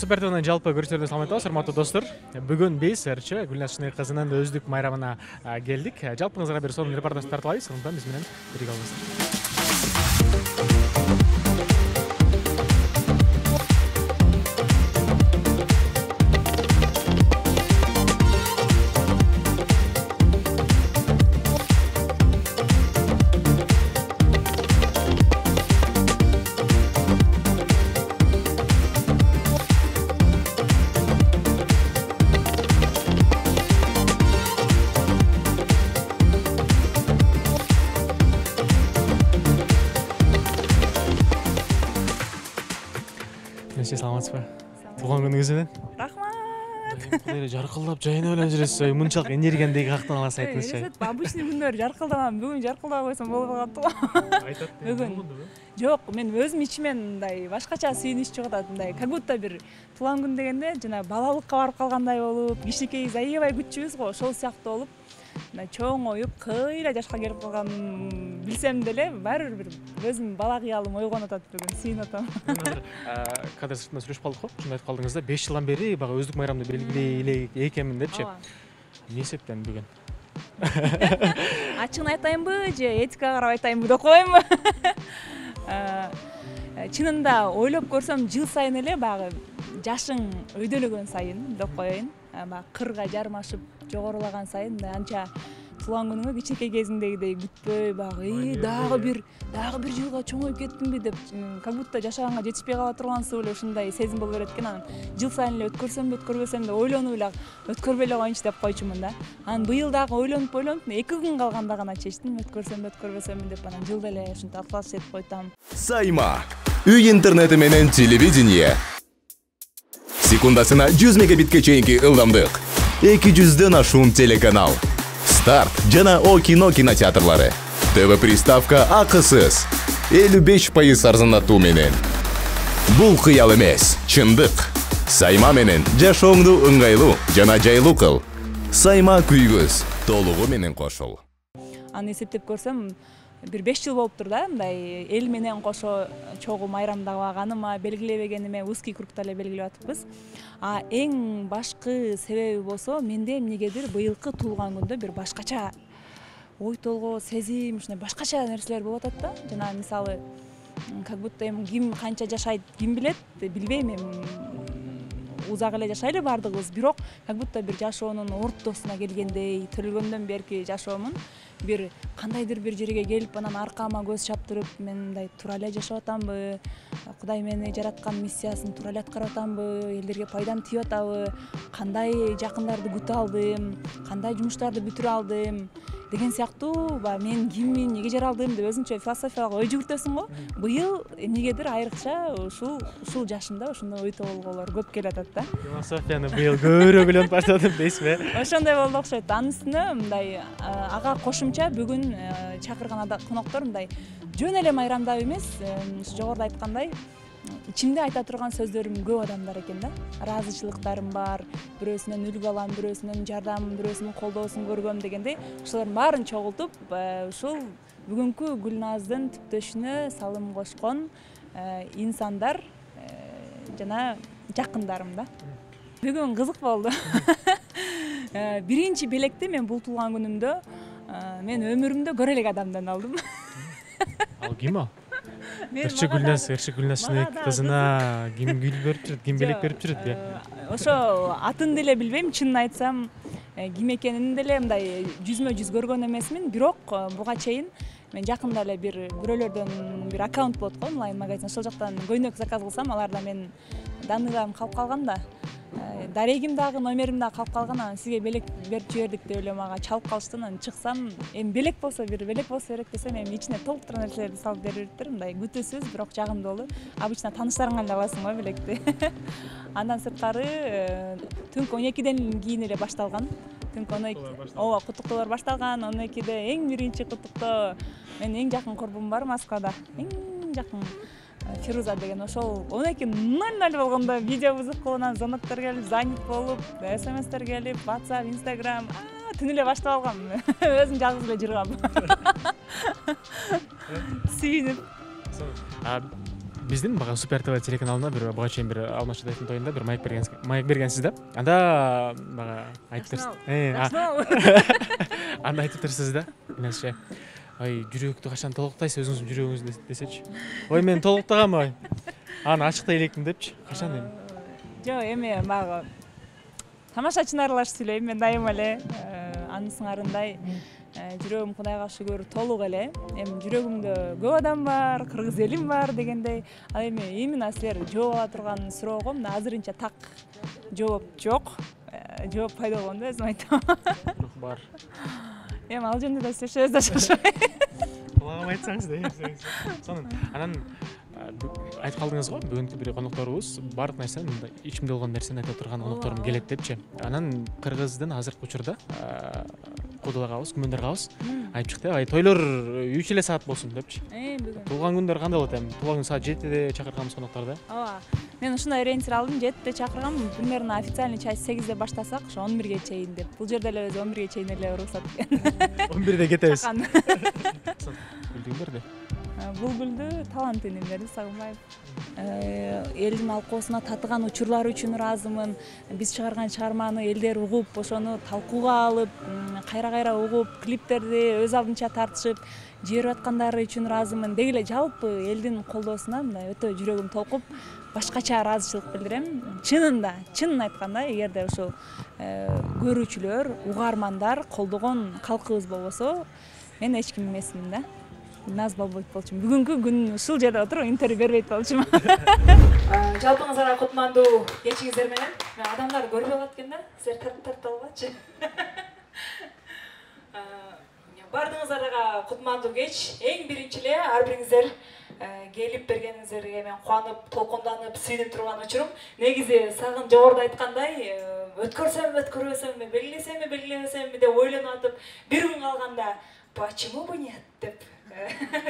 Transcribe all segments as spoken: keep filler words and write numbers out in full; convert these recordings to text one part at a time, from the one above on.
Супертвнын жалпы көрүүчүлөрүнө саламат болуңуз, урматтуу достор. Бүгүн биз ырчы Гүлназ Шыныкызынын өздүк майрамына келдик. Жалпыңызга бир сонун репортаж тартылабыз. Ындан биз менен бирге болуңуз. Саламатсызбы? Туган күнүңүз менен. Рахмат. Кудайга жаркылдап жайына белен жүрөсүз. Мынчалык энергиямды каяктан аласыз айтыңызчы. Обычный күндөр жаркылдамам, бүгүн жаркылдап койсом боло калат го. Айтат. Бүгүн. Жок, мен өзүм ичимен мындай башкача сүйүнүч чыгып атат, мындай. Как будто бир туулган күн дегенде жана балалыкка барып калгандай болуп, кичинекей аябай күтчүбүз го, ошол сыяктуу болуп, мындай чоңоюп, кыйла жашка келип калганын билсем деле, баары бир өзүм бала кыялым ойгонуп атат бүгүн, сүйүнүп атам. Кадыр сыртынан сүйлөшүп калдык го. Ушундай айтып калдыңыз да, беш жылдан бери бага өздүк майрамды белгилей эле экенмин депчи. Эмне эсептен бүгүн? Ачыгын айтайынбы же этикага карап айтайынбы деп коеюнбу? Чынында ойлоп көрсөм, жыл сайын эле багы жашың өйдөлөгөн сайын деп коеюн. Баягы кырга жармашып жогорулаган сайын анча туулган күнүңө кичинекей кезиңдегидей күтпөй, багы дагы бир дагы бир жылга чоңоюп кеттимби деп, как будто жашаганга жетишпей кала тургансыз эле ушундай сезим болуп берет экен. Анан жыл сайын эле өткөрсөмбү, өткөрбөсөм деп ойлонуп эле өткөрбөй эле коеюнчу деп койчумун да. Анан быйыл дагы ойлонуп ойлонуп эки күн калганда гана чечтим, өткөрсөмбү, өткөрбөсөмбү деп. Анан жылда эле ушинтип аткылаш этип койтам. Сайма. Үй интернети менен телевидение. Секундасына жүз мегабитке чейинки ылдамдык. эки жүздөн ашуун телеканал. Старт жана О кино кинотеатрлары. ТВ приставка акысыз. элүү беш пайыз арзандатуу менен. Бул кыял эмес, чындык. Сайма менен жашооңду ыңгайлуу жана жайлуу кыл. Сайма күйгөз толугу менен кошул. Аны эсептеп көрсөм, бир беш жыл болуптур да, мындай эл менен кошо чогуу майрамдабаганыма, белгилебегениме, узкий кругта эле белгилеп атыппыз. А эң башкы себеби болсо, менде эмнегедир быйылкы туулган күндө бир башкача ой толгоо, сезим, ушундай башкача нерселер болуп атат да. Жана мисалы, как будто эми ким канча жашайт, ким билет, билбейм эми. Узак эле жашайлы бардыгыбыз, бирок как будто бир жашоонун ортосуна келгендей, төрөлгөндөн берки жашоомун бир кандайдыр бир жерге келип, анан аркама көз чаптырып, мен мындай туура эле жашап атамбы, Кудай мени жараткан миссиясын туура эле аткарып атамбы, элдерге пайдам тийип атабы, кандай жакындарды күтө алдым, кандай жумуштарды бүтүрө алдым деген сыяктуу, баягы мен киммин, эмнеге жаралдым деп өзүнчө философиялык ой жүгүртөсүң го. Быйыл эмнегедир айрыкча ушул ушул жашымда ошондой ой толгоолор көп келип атат да. Философияны быйыл көбүрөөк ойлонуп баштадым дейсизби? Ошондой болду окшойт. Анын үстүнө мындай ага кошумча бүгүн чакырган коноктор мындай жөн эле майрамдап эмес, жогоруда айткандай, ичимде айта турган сөздөрүм көп адамдар экен да. Ыраазычылыктарым бар, бирөөсүнөн үлгү алам, бирөөсүнүн жардамын, бирөөсүнүн колдоосун көргөм дегендей, ошолордун баарын чогултуп, ушул бүгүнкү Гүлназдын түптөшүнө салым кошкон инсандар жана жакындарым да. Бүгүн кызык болду. Биринчи белекти мен бул туулган күнүмдө мен өмүрүмдө көрө элек адамдан алдым. Ал ким ал? Ырчы Гүлназ, Ырчы Гүлназ кызына ким гүл берип жүрөт, ким белек берип жүрөт? Ошо атын деле билбейм, чынын айтсам, ким экенин деле мындай жүзмө жүз көргөн эмесмин, бирок буга чейин мен жакында эле бир бирөөлөрдөн бир аккаунт болот го, онлайн магазин, ошол жактан көйнөк заказ кылсам, аларда мен данныйларым калып калган да. Дарегим дагы, номерим дагы калып калган, анан сизге белек берип жибердик деп эле мага чалып калышты. Анан чыксам, эми белек болсо бир белек болсо керек десем, эми ичине толуктура нерселерди салып бериптир, мындай күтүүсүз, бирок жагымдуулуу. Обычно тааныштарыңан эле аласың го белекти. Андан сырткары түнкү он экиден кийин эле башталган. Түнкү он эки, ооба, куттуктоолор башталган. он экиде эң биринчи куттуктоо менин эң жакын курбум бар Москвада. Эң жакын Фируза деген, ошол он эки ноль ноль болгондо видео вызов кылып, звоноктор келип, занят болуп, смстер келип, WhatsApp, Instagram, түн эле баштап алгам. Өзүм жалгыз эле жыргам. Сүйүнүп. биздин бага Супер ТВ телеканалына бир буга чейин бир Алмаз Шатаевдин тоюнда бир маек берген маек бергенсиз да. Анда бага айтып берсиз. Анда айтып берсиз да. Эмнеше? Ай, жүрөктү качан толуктайсыз өзүңүздүн жүрөгүңүздү десечи. Ой, мен толуктагам ой. Аны ачыктай электим депчи. Качан дейм? Жок, эми мага тамашачыны аралашып сүйлөйм. Мен дайыма эле анын сыңарындай жүрөгүм Кудайга шүгүр толук эле. Эми жүрөгүмдө көп адам бар, кыргыз элим бар дегендей. Ал эми именно силер жооп ала турган суроого мына азырынча так жооп жок. Жооп пайда болгондо өзүм айтам. Бирок бар. Эми ал жөнүндө да сүйлөшөбүз да шашпай. Кулагыма айтсаңыз да. Сонун анан айтып калдыңыз го, бүгүнкү бир конокторубуз баардык нерсени мындай ичимде болгон нерсени айта турган конокторум келет депчи. Анан кыргыздын азыркы учурда куудулагабыз, күмөндаргабыз айтып чыкты. Ай, тойлор үч эле саат болсун депчи. Э, бүгүн. Туулган күндөр кандай болот эми? Туулган күн саат жетиде чакырганбыз конокторду. Ооба. Мен ушундай ориентир алдым, жетиде чакыргам, примерно официальный часть сегизде баштасак, ошо он бирге чейин деп. Бул жерде эле өзү он бирге чейин эле уруксат берген. он бирде кетебиз. Билдиңдерди. Булгулду талантын берди Сагынбаев. Элдин алкоосуна татыган учурлар үчүн ыраазымын. Биз чыгарган чыгарманы элдер угуп, ошону талкууга алып, кайра-кайра угуп, клиптерди өз алдынча тартышып жиберип аткандары үчүн ыраазымын. Деги эле жалпы элдин колдоосуна мындай өтө жүрөгүм толкуп, башкача ыраазычылык билдирем. Чынында, чынын айтканда, эгерде ушул көрүүчүлөр, угармандар колдогон калкыбыз болбосо, мен эч ким эмесмин да. Наз болбойт болчумун. Бүгүнкү күн ушул жерде отуруп интервью бербейт болчумун. Жалпыңыздарга кутмандуу кечиңиздер менен. Мен адамдар көрбөй калат экен да. Силер тартып тартып алгачы. Бардыгыңыздарга кутмандуу кеч. Эң биринчи эле ар бириңиздер келип бергениңиздерге мен кубанып, толкунданып, сүйүнүп турган учурум. Негизи Сагын жогоруда айткандай, өткөрсөмбү, өткөрбөсөмбү, белгилесемби, белгилебесемби деп ойлонуп атып, бир күн калганда почему бы нет деп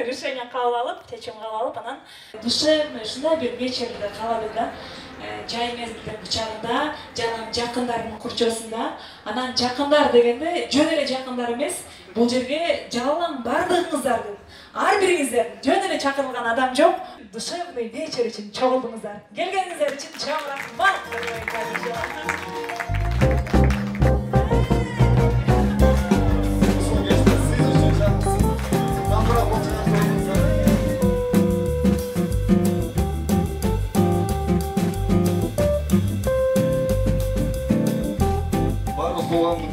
решение кабыл алып, чечим кабыл алып, анан душевный ушундай бир вечерде калады да. Жай мезгилдин кучагында, жанагы жакындардын курчоосунда. Анан жакындар дегенде жөн эле жакындар эмес, бул жерге жагылган бардыгыңыздардын, ар бириңиздер жөн эле чакырылган адам жок. Душевный вечер үчүн чогулдуңуздар. Келгениңиздер үчүн чоң рахмат.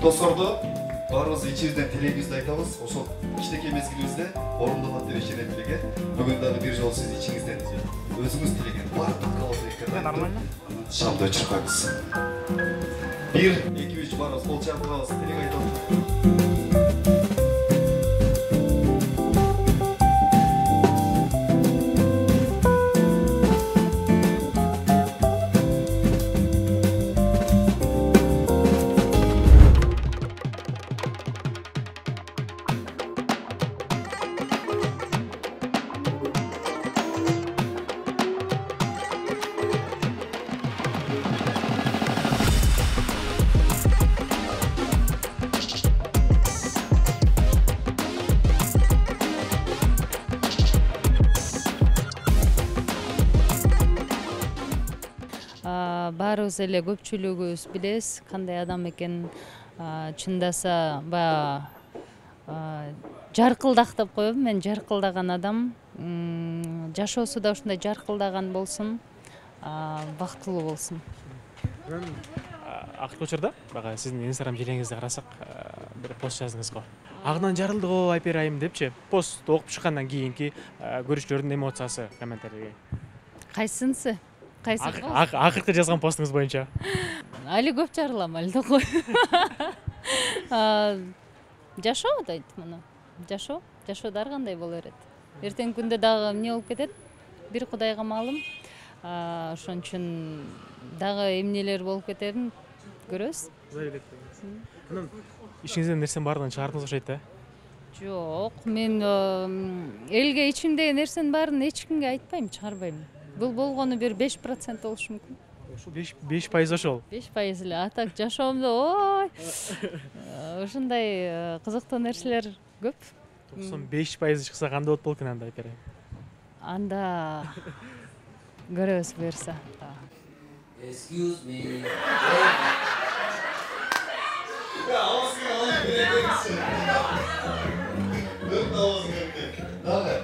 Досторду баарыбыз ичибизден тилегибизди айтабыз. Ошол кичинекей мезгилибизде орундалат деп ишенем тилеге. Бүгүн дагы бир жолу сиз ичиңизден өзүңүз тилеген баардык каалоолорду нормально шамды өчүрүп коебуз. бир, эки, үч баарыбыз кол чапкыбыз тилек айтабыз. Баарыбыз эле көпчүлүгүбүз билебиз кандай адам экенин. Чындаса баягы жаркылдак деп коем. Мен жаркылдаган адам. Жашоосу да ушундай жаркылдаган болсун, бактылуу болсун. Акыркы учурда бага сиздин Instagram желеңизди карасак, бир пост жаздыңыз го. Агынан жарылды го Айпер айым депчи. Пост окуп чыккандан кийинки көрүүчүлөрдүн эмоциясы комментарийге. Кайсынысы? Акыркы жазган постуңуз боюнча. Али көп жарылам, али да кой. Жашоо дейт муну. Жашоо, жашоодо ар кандай боло берет. Эртеңки күндө дагы эмне болуп кетет? Бир Кудайга маалым. Ошон үчүн дагы эмнелер болуп кетерин көрөбүз. Кудай билет. Анан ишиңизден нерсенин баардыгын чыгардыңыз окшойт да? Жок, мен элге ичимдеги нерсенин баарын эч кимге айтпайм, чыгарбайм. Бул болгону бир беш процент болушу мүмкүн. Ошо беш пайыз ошол. беш пайыз эле. А так жашоомдо ой. Ушундай кызыктуу нерселер көп. токсон беш пайыз чыкса кандай болот болот экен анда Айпер айым? Анда көрөбүз буюрса. Excuse me. Ya ağzını alayım bilebilirsin. Dört ağzını öptü. Dağı.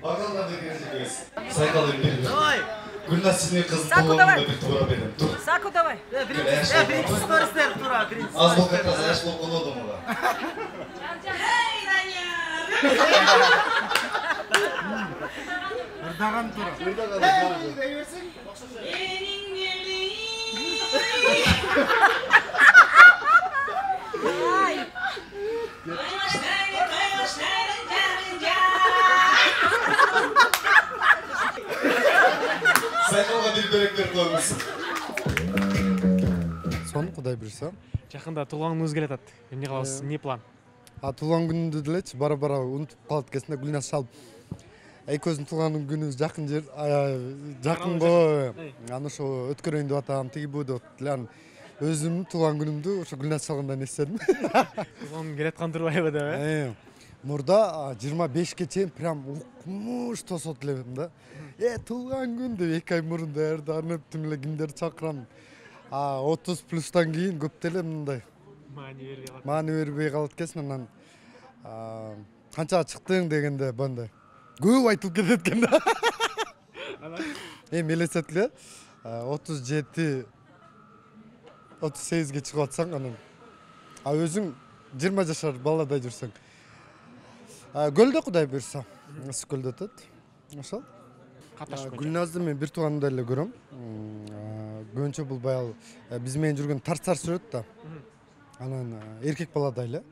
Bakalım da gelecek. Saykalım bir. Gülnaz şimdi kız doğumunda bir tura benim. Dur. Saku давай. Birinci storiesler tura. Az bol kakaz, yaş bol konu odum ola. Hey Danya.Irdagan tura. Irdagan tura. Saykalga bir börekler koymuşsun. Son Кудай буйрса. Жакында туулган келе атат. Эмне кылабыз? Эмне план? А туулган күнүндө делечи бара-бара унутуп калат экенсиң да Гүлназ шалып. Экөөбүздүн туулган күнүбүз жакын жер, жакын го. Аны ошо өткөрөйүн деп атам, тиги бу деп атты. Өзүмдүн туулган күнүмдү ошо Гүлназ шалгандан эстедим. Туулган келе аткан турбайбы деп, э? Мурда жыйырма бешке чейин прям укмуш тосот элем да. Э, туулган күн деп эки ай мурун даярданып, тим эле кимдерди чакырам. А отуз плюстан кийин көп деле мындай Маани бербей калат. Маани бербей калат экенсиң, анан канчага чыктың дегенде бандай көп айтылып кетет экен да. Эми элестетип эле отуз жети отуз сегизге чыгып атсаң, анан а өзүң жыйырма жашар баладай жүрсөң. Көлдө Кудай буйрса, ысык көлдө өтөт. Ошол. Гүлназды мен бир тууганымдай эле көрөм. Көбүнчө бул баягы биз менен жүргөн тарцар сүрөт да. Анан эркек баладай эле.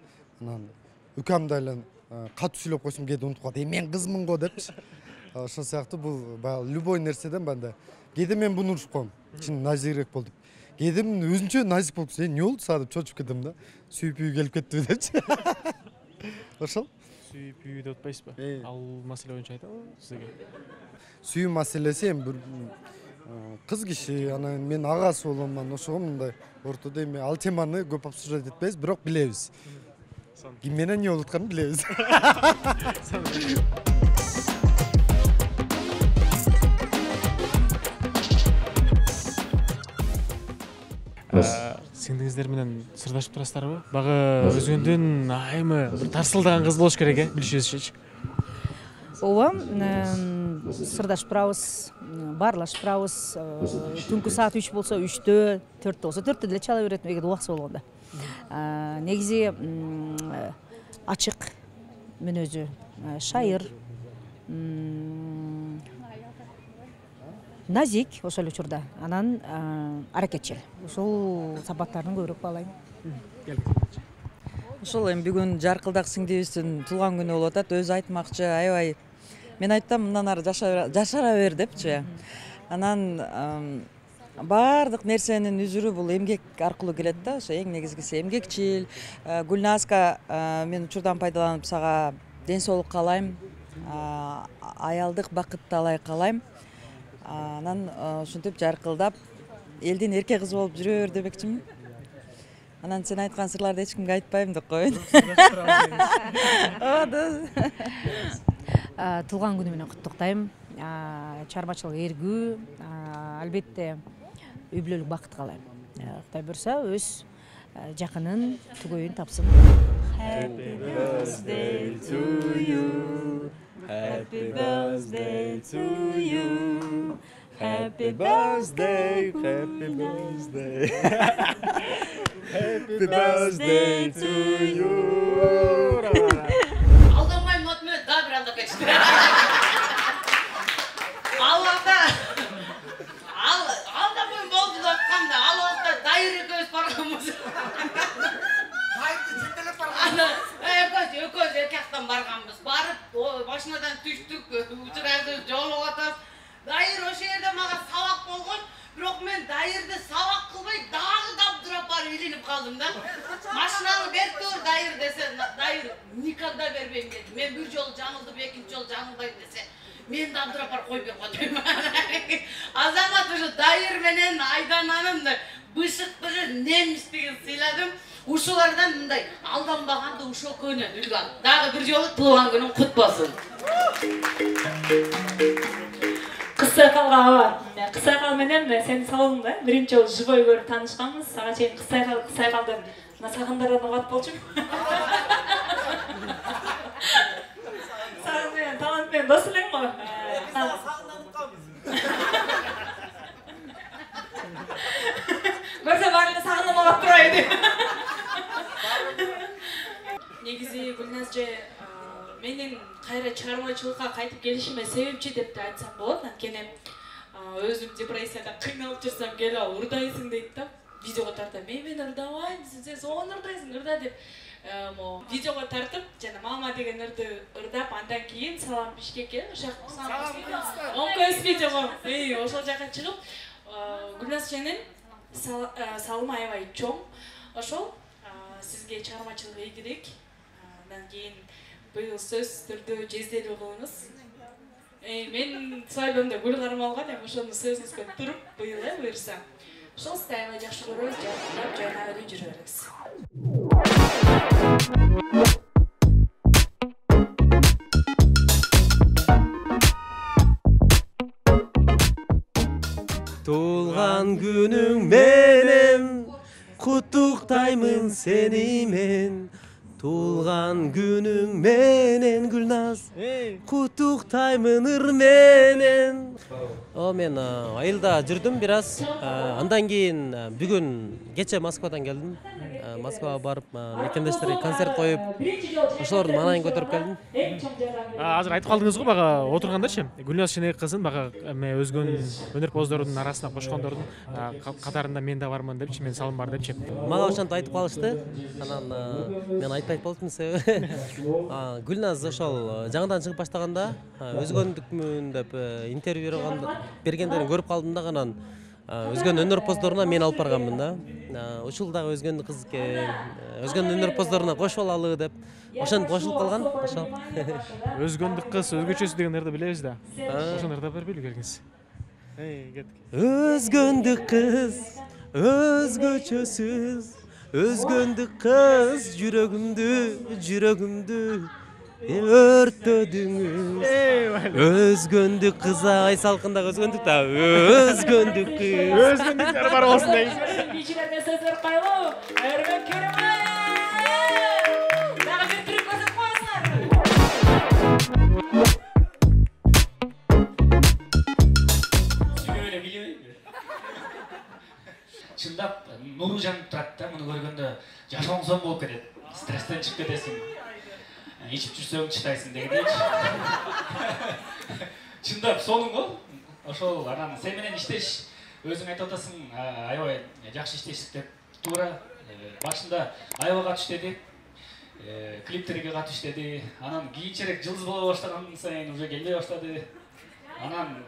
Анан үкамдай эле катуу сүйлөп койсом кээде унутуп калат. Э, мен кызмын го депчи. Ошол сыяктуу бул баягы любой нерседен банда. Кээде мен буну урушуп коем. Чын назикирээк бол деп. Кээде мен өзүнчө назик болуп кетсем, эмне болду сага деп чочуп кетем да. Сүйүп келип кеттиби депчи. Ошол. Сүйүп үйдө отпайсызбы? Ал маселе боюнча айтабы сизге? Сүйүү маселеси эми бир кыз киши, анан мен агасы болом, анан ошого мындай ортодо эми ал теманы көп обсуждать этпейбиз, бирок билебиз. Ким менен эмне болуп атканын билебиз. Сиңдиңиздер менен сырдашып турасыздарбы? Багы өзгөндөн айымы тарсылдаган кыз болуш керек, э, билишибизчечи. Ооба, сырдашып турабыз, баарлашып турабыз. Түнкү саат үч болсо үчтө, төрттө болсо төрттө деле чала берет, эгер убаксы болгондо. Негизи ачык мүнөзү, шайыр, назик ошол учурда, анан аракетчил. Ошол сапаттарын көбүрөөк баалайм. Ошол эми бүгүн жаркылдак сиңдибиздин туулган күнү болуп атат. Өзү айтмакчы, аябай мен айттым мындан ары жашара бер депчи. Анан баардык нерсенин үзүрү бул эмгек аркылуу келет да. Ошо эң негизгиси эмгекчил. Гүлназга мен учурдан пайдаланып сага ден соолук каалайм, аялдык бакытты алай каалайм. Анан ушинтип жаркылдап элдин эрке кызы болуп жүрө бер демекчимин. Анан сен айткан сырларды эч кимге айтпайм деп коеюн. Туулган күнү менен куттуктайм. Чарбачылык эргүү, албетте үй бүлөлүк бакыт каалайм. Кудай буйрса өз жакынын түгөйүн тапсын. Happy birthday to you. Happy birthday to you. Happy birthday, happy birthday. Happy birthday to you. Aldanmayın not minut daha bir anda kaçtı. Allah'ta al aldanmayın boldu dokkan da Allah'ta dayırı göz parmağımız. Haydi cidden parmağımız. Ökoz ökoz erkekten bargamız barıp başınadan düştük uçuraydı jolu atas. Dayır o şehirde mağa salak bolgun. Бирок мен дайырды сабак кылбай дагы дабдырап барып илинип калдым да. Машинаны берип тур дайыр десе, дайыр никогда бербейм деди. Мен бир жолу жаңылдым, экинчи жолу жаңылбайм десе, мен дабдырап барып кой берип коем. Азамат ушу дайыр менен Айдананын бышыктыгы, немистигин сыйладым. Ушулардан мындай алданбаганды ушул көөнөн үлгөн. Дагы бир жолу туулган күнүң кут болсун. Кыса калган бар. Кыз айкал менен сени салдым да. Биринчи жолу живой көрүп таанышканбыз. Ага чейин кыз айкал, кыз айкалды сагындардан угат болчумун. Сагын менен талант менен дос элең го. Көрсө баары сагынып угат турбайбы. Негизи Гүлназ же менин кайра чыгармачылыкка кайтып келишиме себепчи деп да айтсам болот. Анткени өзүм депрессияда кыйналып жүрсөм келип урдайсың дейт да. Видеого тартып, мен мен урдабайм, сен соон урдайсың, урда деп видеого тартып, жана мама деген ырды ырдап, андан кийин салам Бишкекке, ошол он көз видеого, эй, ошол жака чыгып, Гүлназ сенин салымы аябай чоң. Ошол сизге чыгармачылык ийгилик. Андан кийин быйыл сөзсүз түрдө жезделүү кылыңыз. Мен свадьбамда гүл кармалган, эми ошону сөзүңүзгө туруп быйыл э буюрса. Ошол сизди аябай жакшы көрөбүз, жакындап жана өлү жүрө беребиз. Туулган күнүң менен куттуктаймын сени мен. Туулган күнүң менен Гүлназ, куттуктаймын ыр менен. О, мен айылда жүрдүм бир аз. Андан кийин бүгүн кече Москвадан келдим. Москвага барып, мекендештерге концерт коюп, ошолордун маанайын көтөрүп келдим. Азыр айтып калдыңыз го бага отургандачы. Гүлназ Шенек кызын бага өзгөн өнөрпоздордун арасына кошкондордун катарында мен да бармын депчи, мен салым бар депчи. Мага ошентип айтып калышты. Анан мен айтпайт болдум себеби Гүлназ ошол жаңыдан чыгып баштаганда өзгөндүкмүн деп интервью бергендерин көрүп калдым да, анан өзгөн өнөрпоздоруна мен алып барганмын да. Ушул дагы өзгөн кыз экен, өзгөн өнөрпоздоруна кошуп алалы деп ошентип кошулуп калган. Ошол. Өзгөндүк кыз өзгөчөсү деген ырды билебиз да. Ошону ырдап бербейлиби келгенсиз? Эй, кеттик. Өзгөндүк кыз, өзгөчөсүз, өзгөндүк кыз жүрөгүмдү, жүрөгүмдү өрттөдүңүз. Өзгөндүк кыз ай салкындагы өзгөндүк да, өзгөндүк кыз. Өзгөндүктөр бар болсун дейбиз. Кичине сөздөр кайлуу, өрмөк керемет. Дагы бир түрүп көрсөтүп коесуңар. Сүйлөп эле билбейби? Чындап нуру жанып турат да, муну көргөндө жашооңсон болуп кетет. Стресстен чыгып кетесиң. Ичип жүрсөң чыдайсың дегендейчи. Чындап сонун го. Ошол анан сен менен иштеш, өзүң айтып атасың, аябай жакшы иштештик деп. Туура башында аябай катыш деди. Клиптерге катыш деди. Анан кийинчерээк жылдыз боло баштаган сайын уже келбей баштады. Анан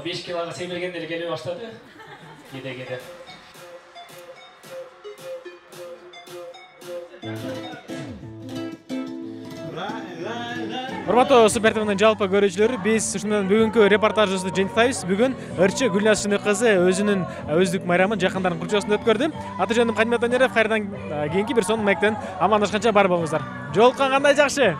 беш килога семиргенде эле келбей баштады. Кеде-кеде. Урматтуу Супер ТВнын жалпы көрүүчүлөрү, биз ушундан бүгүнкү репортажыбызды жыйынтыктайбыз. Бүгүн ырчы Гүлназ Шенек кызы өзүнүн өздүк майрамын жакындардын курчоосунда өткөрдү. Аты жөнүм Кадимет Анеров. Кайрадан кийинки бир сонун маектен амандашканча бар болуңуздар. Жолуккан кандай жакшы.